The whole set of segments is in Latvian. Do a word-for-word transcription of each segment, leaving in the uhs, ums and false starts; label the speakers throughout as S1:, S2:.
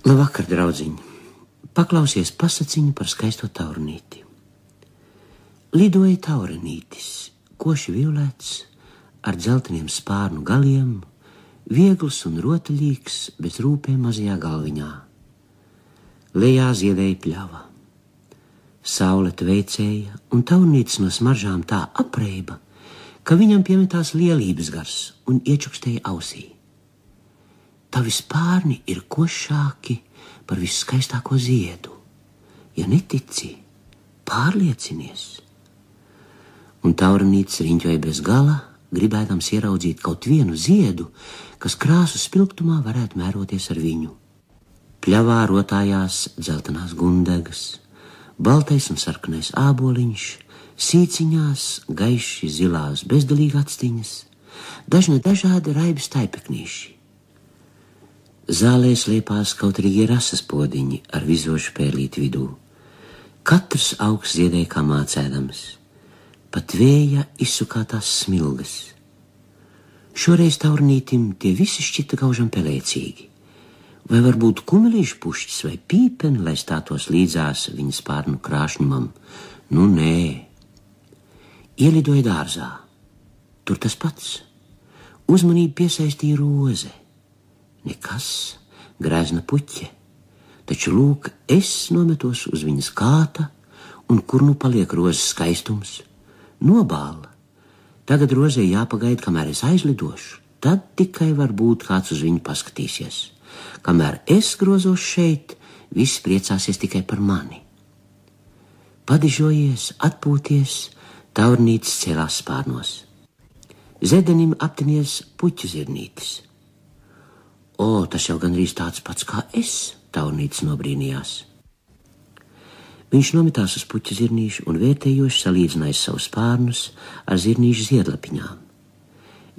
S1: Labvakar, draudziņi! Paklausies pasaciņu par skaisto taurnīti. Lidoja taurenītis, koši violēts, ar dzelteniem spārnu galiem, viegls un rotaļīgs, bez rūpēm mazajā galviņā. Lejā ziedēja pļava. Saule tveicēja, un taurnītis no smaržām tā apreiba, ka viņam piemetās lielības gars un iečukstēja ausī. Tavi spārni ir košāki par visskaistāko ziedu. Ja netici, pārliecinies. Un taurenītis riņķoja bez gala, gribēdams ieraudzīt kaut vienu ziedu, kas krāsu spilgtumā varētu mēroties ar viņu. Pļavā rotājās dzeltenās gundegas, baltais un sarkanais āboliņš, sīciņās gaiši zilās bezdelīgi actiņas, dažne dažādi raibi staipeknīši. Zālē sliepās kautrīgie rasas podiņi ar vizošu pērlīti vidū. Katrs augs ziedēja kā mācēdams, pat vēja izsukātās smilgas. Šoreiz taurnītim tie visi šķita gaužam pelēcīgi. Vai varbūt kumelīšu pušķis vai pīpeni, lai stātos līdzās viņa spārnu krāšņumam? Nu, nē. Ielidoja dārzā. Tur tas pats. Uzmanību piesaistīja roze. Nekas, grēzna puķe. Taču, lūk, es nometos uz viņas kāta, un kur nu paliek rozes skaistums? Nobāla. Tagad rozei jāpagaida, kamēr es aizlidošu. Tad tikai varbūt kāds uz viņu paskatīsies. Kamēr es grozos šeit, viss priecāsies tikai par mani. Padižojies, atpūties, taurnītis cēlās spārnos. Zedenim aptinies puķu zirnītis. O, tas jau gandrīz tāds pats kā es, taurnītis nobrīnījās. Viņš nometās uz puķu zirnīšu un vērtējoši salīdzināja savus spārnus ar zirnīšu ziedlapiņām.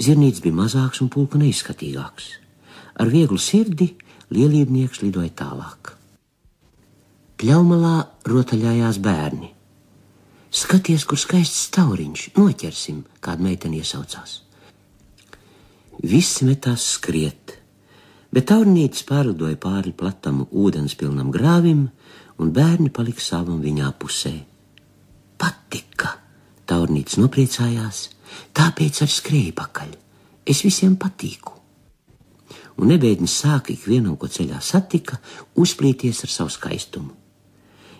S1: Zirnītis bija mazāks un pulku neizskatīgāks. Ar vieglu sirdi lielībnieks lidoja tālāk. Pļaumalā rotaļājās bērni. Skaties, kur skaists tauriņš, noķersim, kāda meitene iesaucās. Visi metās skriet, bet taurnītis pārlidoja pāri platam ūdenspilnam grāvim, un bērni palika savam viņā pusē. Patika, taurnītis nopriecājās, tāpēc arī skrēja pakaļ. Es visiem patīku. Un nebēdnis sāka ikvienam, ko ceļā satika, uzplīties ar savu skaistumu.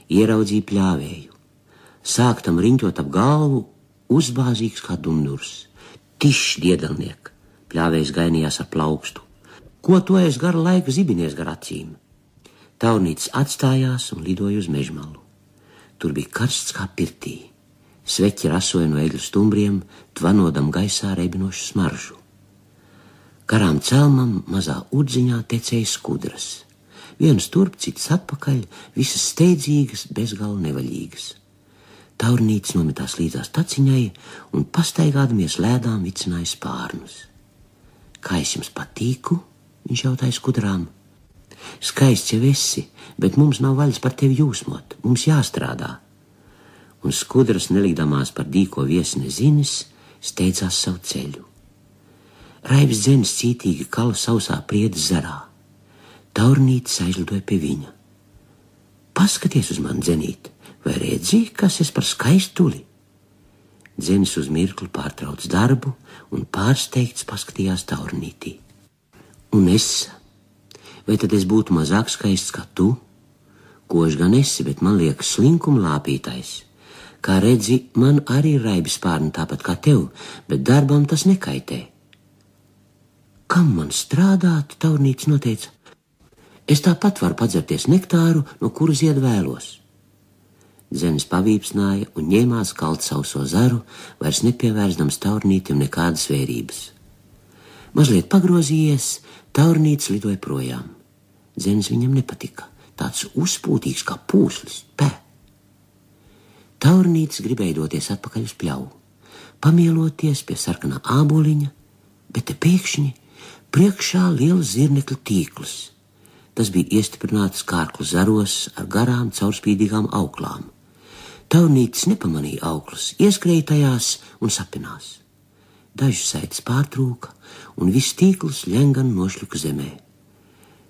S1: Ieraudzīja pļāvēju. Sāk tam riņķot ap galvu, uzbāzīgs kā dundurs. Tišs, diedelniek! Pļāvējs gainījās ar plaukstu. Ko to es garu laiku zibinies gar acīm? Taurnītis atstājās un lidoja uz mežmalu. Tur bija karsts kā pirtī. Sveķi rasoja no egļu stumbriem, tvanodam gaisā reibinošu smaržu. Garām celmam mazā urdziņā tecēja skudras. Vienas turp, citas atpakaļ, visas steidzīgas, bezgala nevaļīgas. Taurnītis nometās līdzās taciņai un pastaigādamies lēdām vicināja spārnus. Kā es jums patīku? Viņš jautāja skudrām. Skaists jau esi, bet mums nav vaļas par tevi jūsmot, mums jāstrādā. Un skudras, nelikdamās par dīko viesne zinis, steidzās savu ceļu. Raibs dzenis cītīgi kala sausā priedes zarā. Taurnītis aizlidoja pie viņa. Paskaties uz mani, dzenīt, vai redzi, kas es par skaistuli? Dzenis uz mirkli pārtrauc darbu un pārsteigts paskatījās taurnītī. Un es, vai tad es būtu mazāk skaists kā tu? Kož gan esi, bet man liekas slinkuma lāpītais. Kā redzi, man arī ir raibi spārni tāpat kā tev, bet darbam tas nekaitē. Kam man strādāt, taurnītis noteica. Es tāpat varu padzerties nektāru, no kura zied vēlos. Dzenis pavīpsnāja un ņēmās kalt sauso zaru, vairs nepievērsdams taurnītim nekādas vērības. Mazliet pagrozījies, taurnītis lidoja projām. Dzenis viņam nepatika, tāds uzpūtīgs kā pūslis, pē. Taurnītis gribēja doties atpakaļ uz pļauju, pamieloties pie sarkanā āboliņa, bet te pēkšņi priekšā liels zirnekļu tīkls. Tas bija iestiprināts kārklu zaros ar garām caurspīdīgām auklām. Taurnītis nepamanīja auklas, ieskrēja tajās un sapinās. Dažas saites pārtrūka un viss tīkls ļengan nošļuka zemē.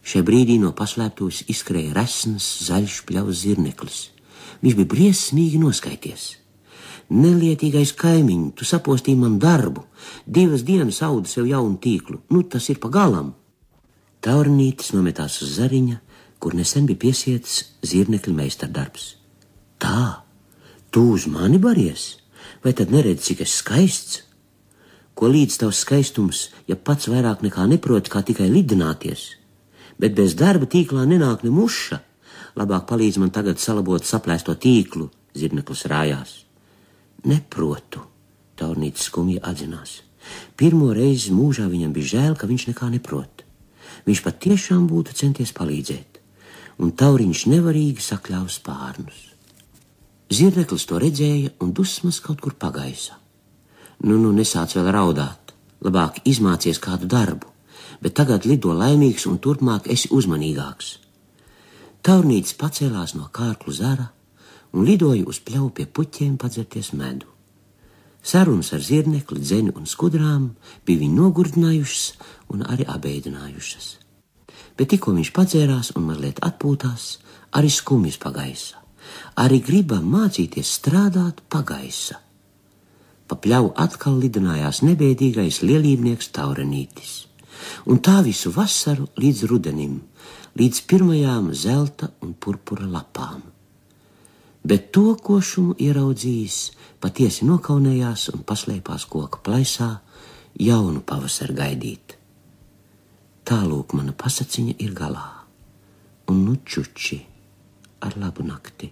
S1: Šai brīdī no paslēptuves izskrēja resns, zaļš pļavas zirneklis. Viņš bija briesmīgi noskaities. Nelietīgais kaimiņ, tu sapostīji man darbu, divas dienas audu sev jaunu tīklu, nu tas ir pa galam. Taurnītis nometās uz zariņa, kur nesen bija piesietis zirnekļa meistardarbs. Tā, tu uz mani baries? Vai tad neredzi, cik es skaists? Ko līdz tavs skaistums, ja pats vairāk nekā neproti, kā tikai lidināties? Bet bez darba tīklā nenāk ne muša. Labāk palīdz man tagad salabot saplēsto tīklu, zirneklis rājās. Neprotu, Taurnītis skumji atzinās. Pirmo reizi mūžā viņam bija žēl, ka viņš nekā neprot. Viņš pat tiešām būtu centies palīdzēt, un Tauriņš nevarīgi sakļāva spārnus. Zirneklis to redzēja un dusmas kaut kur pagaisa. Nu, nu, nesāc vēl raudāt, labāk izmācies kādu darbu, bet tagad lido laimīgs un turpmāk esi uzmanīgāks. Taurnītis pacēlās no kārklu zara un lidoja uz pļauju pie puķiem padzerties medu. Sarunas ar zirnekli, dzeni un skudrām bija viņu nogurdinājušas un arī abeidinājušas. Bet tikko viņš padzērās un mazliet atpūtās, arī skumjas pagaisa. Arī griba mācīties strādāt pagaisa. Pa pļauju atkal lidinājās nebēdīgais lielībnieks Taurenītis. Un tā visu vasaru līdz rudenim, līdz pirmajām zelta un purpura lapām. Bet to košumu ieraudzījis, patiesi nokaunējās un paslēpās koka plaisā jaunu pavasaru gaidīt. Tālūk mana pasaciņa ir galā, un nu čuči ar labu nakti.